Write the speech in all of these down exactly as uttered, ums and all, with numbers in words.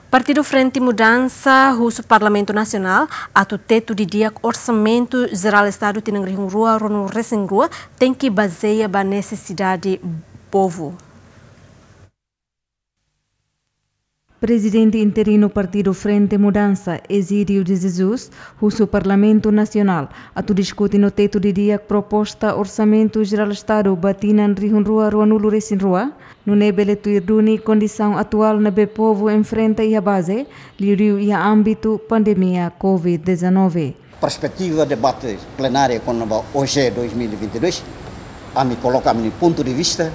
Partidu Frente Mudansa husu Parlamentu Nasionál atu tetu didi'ak Orsamentu Jerál Estadu tinan rihun rua ruanulu resin rua tenke bazeia ba nesesidade povu. Prezidente interinu Partidu Frente Mudansa, Egídio de Jesus, husu Parlamentu Nasionál atu diskute no tetu didi'ak proposta Orsamentu Jerál Estadu ba tinan rihun rua ruanulu resin rua, nune'e bele tuir duni kondisaun atuál ne'ebé povu enfrenta iha baze, liuliu iha ámbitu pandemia covid dezanove. Perspetiva debate plenária kona-ba O J dois mil e vinte e dois, ami koloka ami-nia pontu de vista,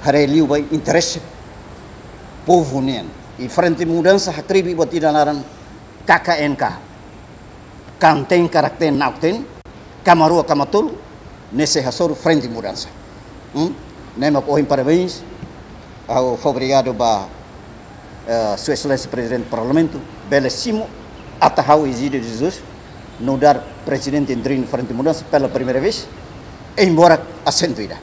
haree liu ba interese povu nian. I Frente Mudansa hakribi buat ida naran K K N K. Kan ten, karak ten, na'ok ten, kama rua, kama tolu, ne'e sei hasoru Frente Mudansa. Hmm? Ne'e mak ohin parabéns, ha'u fó obrigadu ba, eh, Sua Exelénsia Prezidente Parlamentu, bele simu ata ha'u Egídio de Jesus nu'udar prezidente interinu Frente Mudansa pela primeira vez, embora asentu ida.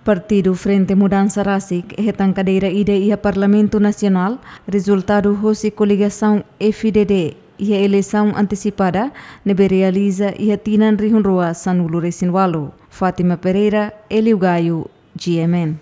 Partidu Frente Mudansa rasik hetan kadeira ida iha Parlamentu Nasionál, rezultadu hosi koligasaun F D D iha eleisaun antesipada ne'ebé realiza iha tinan rihun rua sanulu resin walu. Fátima Pereira, Hélio Gaio, G M N.